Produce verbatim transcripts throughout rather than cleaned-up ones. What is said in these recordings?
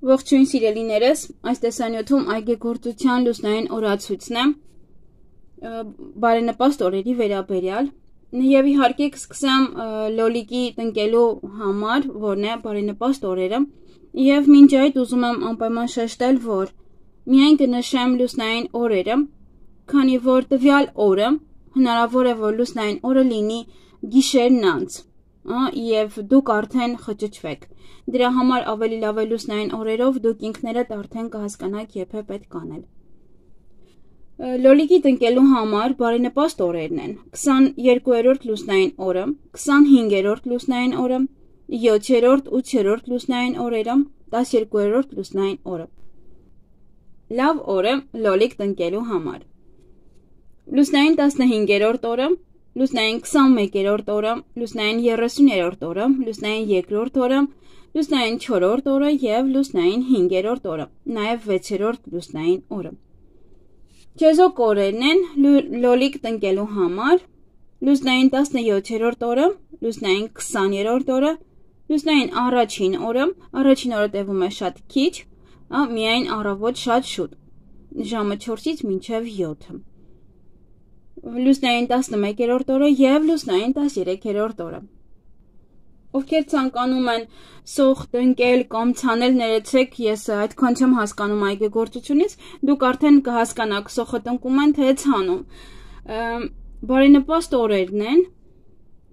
Ողջույն սիրելիներս, այս տեսանյութում այգեգործության լուսնային օրացույցն է բարենպաստ օրերի վերաբերյալ եւ իհարկե կսկսեմ լոլիկի տնկելու համար, որն է բարենպաստ օրերը, եւ մինչ այդ ուզում եմ անպայման շեշտել, որ միայն կնշեմ լուսնային օրերը, քանի որ տվյալ օրը հնարավոր է, որ լուսնային օրը լինի գիշերն անց, եւ դուք արդեն խճճվեք։ Դրա համար ավելի լավ է լուսնային օրերով դուք ինքներդ արդեն կհասկանաք երբ է պետք անել։ Լոլիկի տնկելու համար բարենպաստ օրերն են քսաներկուերորդ լուսնային օրը, քսանհինգերորդ լուսնային օրը, յոթերորդ, ութերորդ լուսնային օրերը, տասներկուերորդ լուսնային օրը։ Լավ օրը լոլիկ տնկելու համար։ Լուսնային տասնհինգերորդ օրը, լուսնային քսանմեկերորդ օրը, լուսնային երեսուներորդ օրը, լուսնային երկրորդ օրը, լուսնային չորրորդ օրը եւ լուսնային հինգերորդ օրը, նաեւ վեցերորդ լուսնային օրը։ Չեզոք օրերն են լոլիկ տնկելու համար. լուսնային տասնյոթերորդ օրը, լուսնային քսաներորդ օրը, լուսնային առաջին օրը, առաջին օրը տևում է շատ քիչ, միայն առավոտ շատ շուտ, ժամը չորսից մինչև յոթը։ Լուսնային տասնմեկերորդ օրը եւ լուսնային տասներեքերորդ օրը։ Ովքեր ցանկանում են սոխ տնկել կամ ցանել, ներեցեք, ես այդքան չեմ հասկանում այգեգործությունից, դուք արդեն կհասկանաք սոխը տնկում են թե ցանում։ Բարենպաստ օրերն են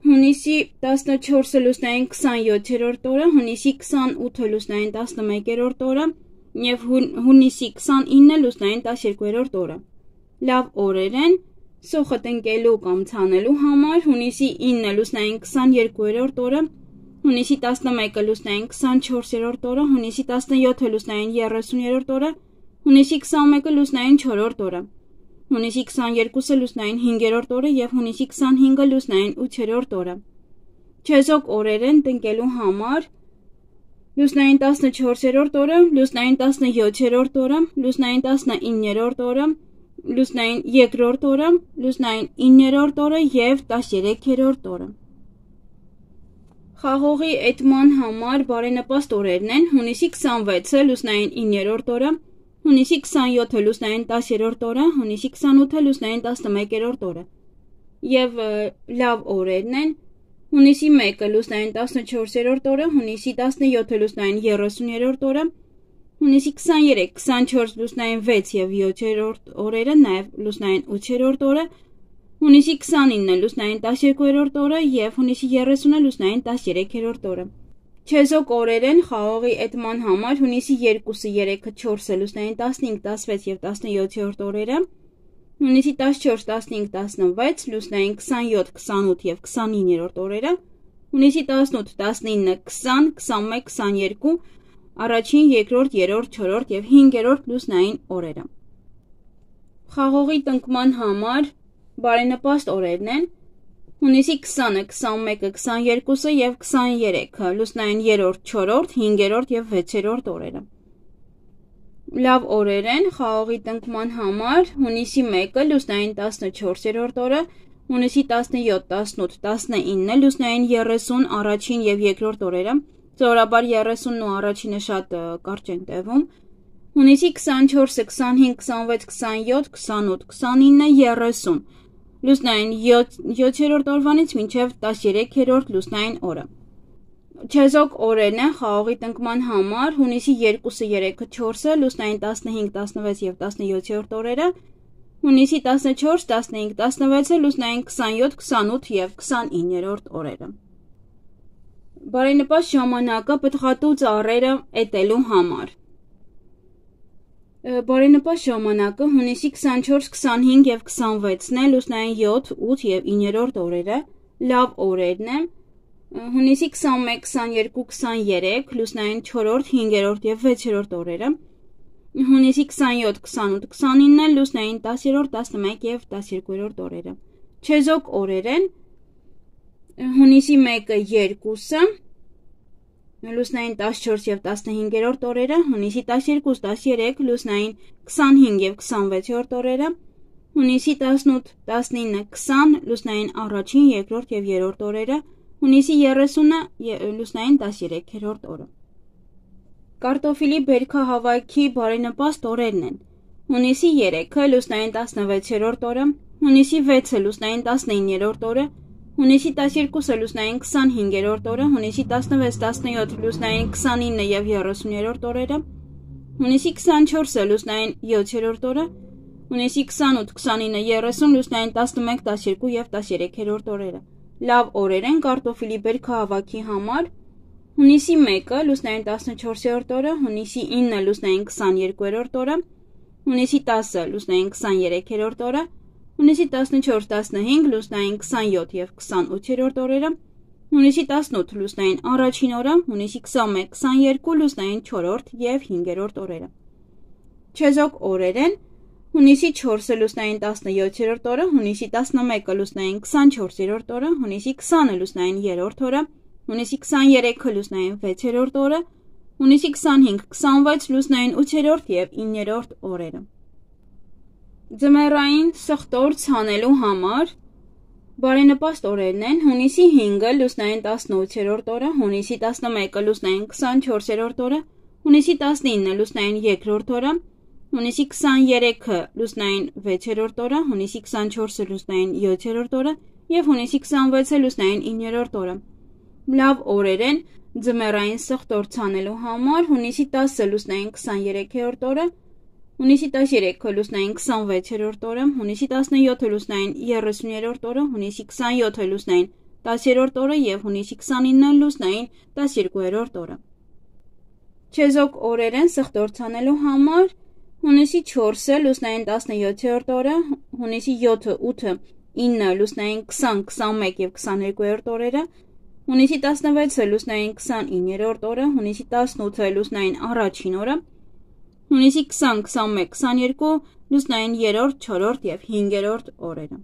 հունիսի տասնչորսը լուսնային քսանյոթերորդ օրը, հունիսի քսանութը լուսնային տասնմեկերորդ օրը եւ հունիսի քսանինը լուսնային տասներկուերորդ օրը։ Լավ օրեր են սոխը տնկելու կամ ցանելու համար հունիսի ինը լուսնային քսաներկուերորդ օրը, հունիսի տասնմեկը լուսնային քսանչորսերորդ օրը, հունիսի տասնյոթը լուսնային երեսուներորդ օրը, հունիսի քսանմեկը լուսնային չորրորդ օրը, հունիսի քսաներկուսը լուսնային հինգերորդ օրը եւ հունիսի քսանհինգը լուսնային ութերորդ օրը։ Չեզոք օրեր են տնկելու համար լուսնային տասնչորսերորդ օրը, լուսնային տասնյոթերորդ օրը, լուսնային տասնիններորդ օրը, լուսնային երկրորդ օրը, լուսնային իններորդ օրը եւ տասներեքերորդ օրը։ Խաղողի էտման համար բարենպաստ օրերն են հունիսի քսանվեցը լուսնային իններորդ օրը, հունիսի քսանյոթը լուսնային տասերորդ օրը, հունիսի քսանութը լուսնային տասնմեկերորդ օրը։ Եվ լավ օրերն են հունիսի մեկը լուսնային տասնչորսերորդ օրը, հունիսի տասնյոթը լուսնային երեսուներորդ օրը, հունիսի քսաներեք, քսանչորս լուսնային վեց եւ յոթերորդ օրերը, նաեւ լուսնային ութերորդ օրը, հունիսի քսանինը լուսնային տասներկուերորդ օրը եւ հունիսի երեսունը լուսնային տասներեքերորդ օրը։ Չեզոք օրեր են խաղողի էտման համար հունիսի երկուսը, երեքը, չորսը լուսնային տասնհինգ, տասվեց եւ տասնյոթերորդ օրերը, հունիսի տասնչորս, տասնհինգ, տասնվեց լուսնային քսանյոթ, քսանութ եւ քսանիններորդ օրերը, հունիսի տասնութ, տասնինը, քսան, քսանմեկ, քսաներկու առաջին, երկրորդ, երրորդ, չորրորդ եւ հինգերորդ լուսնային օրերը։ Խաղողի տնկման համար բարենպաստ օրերն են հունիսի քսանը, քսանմեկը, քսաներկուսը եւ քսաներեքը լուսնային երրորդ, չորրորդ, հինգերորդ եւ վեցերորդ օրերը։ Լավ օրեր են խաղողի տնկման համար հունիսի մեկը լուսնային տասնչորսերորդ օրը, հունիսի տասնյոթ, տասնութ, տասնինը լուսնային երեսուն առաջին եւ երկրորդ օրերը, Զորաբար երեսունն ու առաջինը շատ կարճ են տևում, հունիսի քսանչորսը, քսանհինգ, քսանվեց, քսանյոթ, քսանութ, քսանինը, երեսուն, լուսնային յոթերորդ օրվանից մինչև տասներեքերորդ լուսնային օրը։ Չեզոք օրերն են խաղողի տնկման համար հունիսի երկուսը, երեքը, չորսը լուսնային տասնհինգ, տասնվեց եւ տասնյոթերորդ օրերը, հունիսի տասնչորս, տասնհինգ, տասնվեցը լուսնային քսանյոթ, քսանութ եւ քսանիններորդ օրերը։ Բարենպաստ ժամանակը պտղատու ծառերը էտելու համար։ Բարենպաստ ժամանակը հունիսի քսանչորս, քսանհինգ եւ քսանվեցն է լուսնային յոթ, ութ եւ իններորդ օրերը, լավ օրերն են հունիսի քսանմեկ, քսաներկու, քսաներեք լուսնային չորրորդ, հինգերորդ եւ վեցերորդ օրերը, հունիսի քսանյոթ, քսանութ, քսանինը լուսնային տասերորդ, տասնմեկ եւ տասներկուերորդ օրերը։ Չեզոք օրեր են հունիսի մեկը, երկուսը լուսնային տասնչորս եւ տասնհինգերորդ օրերը, հունիսի տասներկու, տասներեք լուսնային քսանհինգ եւ քսանվեցերորդ օրերը, հունիսի տասնութ, տասնինը, քսան լուսնային առաջին, երկրորդ եւ երրորդ օրերը, հունիսի երեսունը լուսնային տասներեքերորդ օրը։ Կարտոֆիլի բերքահավաքի բարենպաստ օրերն են. հունիսի երեքը լուսնային տասնվեցերորդ օրը, հունիսի վեցը լուսնային տասնիններորդ օրը, հունիսի տասներկուսը լուսնային քսանհինգերորդ օրը, հունիսի տասնվեց տասնյոթ լուսնային քսանինը և երեսուներորդ օրերը, հունիսի քսանչորսը լուսնային յոթերորդ օրը, հունիսի քսանութ քսանինը երեսուն լուսնային տասնմեկ տասներկու և տասներեքերորդ օրերը։ Լավ օրեր են կարտոֆիլի բերքահավաքի համար. հունիսի մեկը լուսնային տասնչորսերորդ օրը, հունիսի ինը լուսնային քսաներկուերորդ օրը, հունիսի տասը լուսնային քսաներեքերորդ օրը, հունիսի տասնչորս տասնհինգ լուսնային քսանյոթ և քսանութերորդ օրերը, հունիսի տասնութ լուսնային առաջին օրը, հունիսի քսանմեկ քսաներկու լուսնային չորրորդ և հինգերորդ օրերը։ Չեզոք օրեր են. հունիսի չորսը լուսնային տասնյոթերորդ օրը, հունիսի տասնմեկը լուսնային քսանչորսերորդ օրը, հունիսի քսանը լուսնային երրորդ օրը, հունիսի քսաներեքը լուսնային վեցերորդ օրը, հունիսի քսանհինգ քսանվեց լուսնային ութերորդ և իններորդ օրերը։ Ձմեռային սխտոր ցանելու համար բարենպաստ օրերն են. հունիսի հինգը լուսնային տասնութերորդ օրը, հունիսի տասնմեկը լուսնային քսանչորսերորդ օրը, հունիսի տասնինը լուսնային երկրորդ օրը, հունիսի քսաներեքը լուսնային վեցերորդ օրը, հունիսի քսանչորսը լուսնային յոթերորդ օրը և հունիսի քսանվեցը լուսնային իններորդ օրը։ Լավ օրեր են ձմեռային սխտոր ցանելու համար. հունիսի տասը լուսնային քսաներեքերորդ օրը, հունիսի տասներեքը լուսնային քսանվեցերորդ օրը, հունիսի տասնյոթը լուսնային երեսուներորդ օրը, հունիսի քսանյոթը լուսնային տասերորդ օրը և հունիսի քսանինը լուսնային տասներկուերորդ օրը։ Չեզոք օրեր են սխտոր ցանելու համար. հունիսի չորսը լուսնային տասնյոթերորդ օրը, հունիսի յոթը ութը ինը լուսնային քսան քսանմեկ և քսաներկուերորդ օրերը, հունիսի տասնվեցը լուսնային քսանիններորդ օրը, հունիսի տասնութը լուսնային առաջին օրը, հունիսի քսան քսանմեկ քսաներկու լուսնային երրորդ, չորրորդ և հինգերորդ օրերը։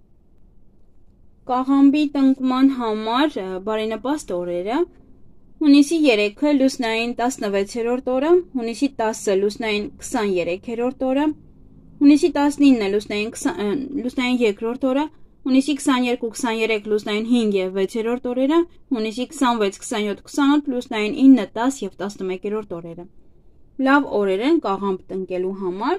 Կաղամբի տնկման համար բարենպաստ օրերը. հունիսի երեքը լուսնային տասնվեցերորդ օրը, հունիսի տասը լուսնային քսաներեքերորդ օրը, հունիսի տասնինը լուսնային երկրորդ օրը, հունիսի քսաներկու քսաներեք լուսնային հինգ և վեցերորդ օրերը, հունիսի քսանվեց քսանյոթ քսանութ լուսնային ինը տաս և տասնմեկերորդ օրերը։ Լավ օրեր են կաղամբ տնկելու համար.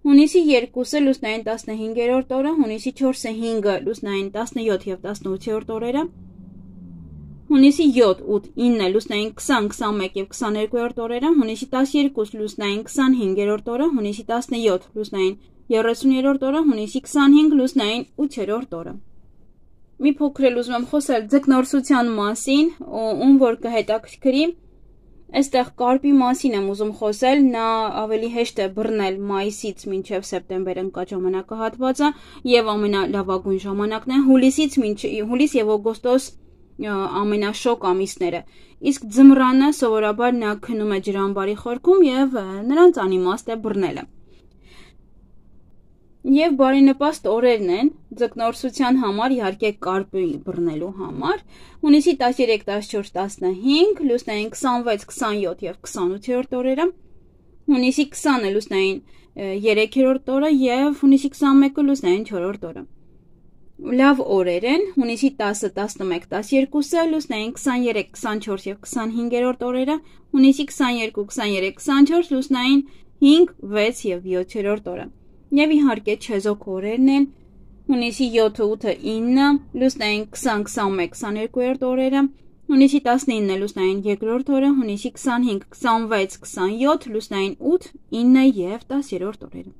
հունիսի երկուսը լուսնային տասնհինգերորդ օրը, հունիսի չորսը հինգը լուսնային տասնյոթ և տասնութերորդ օրերը, հունիսի յոթ ութ ինը լուսնային քսան քսանմեկ և քսաներկուերորդ օրերը, հունիսի տասներկու լուսնային քսանհինգերորդ օրը, հունիսի տասնյոթ լուսնային երեսուներորդ օրը, հունիսի քսանհինգ լուսնային ութերորդ օրը։ Մի փոքր էլ ուզում եմ խոսել ձկնորսության մասին, ում որ կհետաքրքրի, այստեղ կարպի մասին եմ ուզում խոսել, նա ավելի հեշտ է բռնել մայիսից մինչև սեպտեմբեր ընկած ժամանակահատվածը և ամենալավագույն ժամանակն է հուլիսից հուլիս և օգոստոս ամենաշոգ ամիսները, իսկ ձմռանը սովորաբար նա քնում է ջրամբարի խորքում և նրանց անիմաստ է բռնելը։ Եվ բարենպաստ օրերն են ձկնորսության համար, իհարկե կարպի բռնելու համար. հունիսի տասներեք տասնչորս տասնհինգ լուսնային քսանվեց քսանյոթ և քսանութերորդ օրերը, հունիսի քսանը լուսնային երեքերորդ օրը և հունիսի քսանմեկը լուսնային չորրորդ օրը։ Լավ օրեր են հունիսի տասը տասնմեկ տասներկուսը լուսնային քսաներեք քսանչորս և քսանհինգերորդ օրերը, հունիսի քսաներկու քսաներեք քսանչորս լուսնային հինգ վեց և յոթերորդ օրը։ Եվ իհարկե չեզոք օրերն են հունիսի յոթը ութը ինը լուսնային քսան քսանմեկ քսաներկուերորդ օրերը, հունիսի տասնինը լուսնային երկրորդ օրը, հունիսի քսանհինգ քսանվեց քսանյոթ լուսնային ութ ինը և տասերորդ օրերը։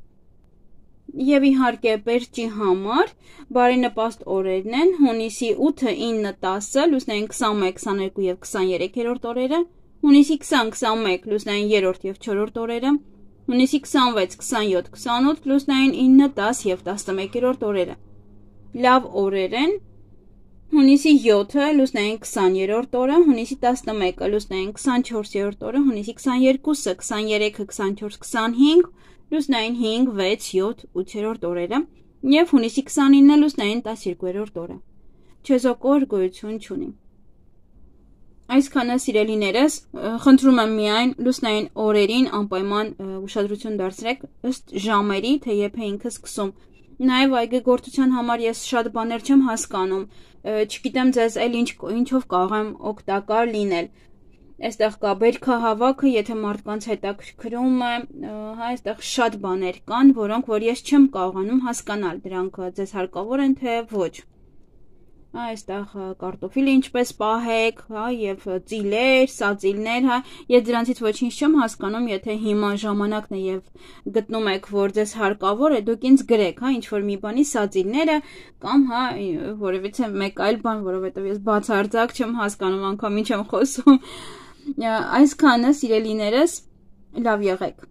Եվ իհարկե պերճի համար բարենպաստ օրերն են հունիսի ութը ինը տասը լուսնային քսանմեկ քսաներկու և քսաներեքերորդ օրերը, հունիսի քսան քսանմեկ լուսնային երրորդ և չորրորդ օրերը, հունիսի քսանվեց քսանյոթ քսանութ լուսնային ինը տաս և տասնմեկերորդ օրերը։ Լավ օրեր են հունիսի յոթը լուսնային քսաներորդ օրը, հունիսի տասնմեկը լուսնային քսանչորսերորդ օրը, հունիսի քսաներկուսը քսաներեքը քսանչորս քսանհինգ լուսնային հինգ վեց յոթ ութերորդ օրերը և հունիսի քսանինը լուսնային տասներկուերորդ օրը։ Չեզոք օր գոյություն չունի։ Այսքանը սիրելիներս, խնդրում եմ միայն լուսնային օրերին անպայման ուշադրություն դարձրեք ըստ ժամերի, թե երբ է ինքը սկսում։ Նաև այգեգործության համար ես շատ բաներ չեմ հասկանում, չգիտեմ ձեզ էլ ինչ, ինչով կարող եմ օգտակար լինել։ Այստեղ կա բերքահավաքը, եթե մարդկանց հետաքրքրում է, հա, այստեղ շատ բաներ կան, որոնք որ ես չեմ կարողանում հասկանալ, դրանք ձեզ հարկավոր են թե ոչ։ Հա, այստեղ կարտոֆիլը ինչպես պահեք, հա, եւ ծիլեր, սածիլներ, հա, ես դրանցից ոչինչ չեմ հասկանում, եթե հիմա ժամանակն է եւ գտնում եք, որ ձեզ հարկավոր է, դուք ինձ գրեք, հա, ինչ որ մի բանի սածիլները կամ, հա, որևիցե մեկ այլ բան, որովհետեւ ես բացարձակ չեմ հասկանում, անգամ ինչ եմ խոսում։ Այսքանը, սիրելիներս, լավ եղեք։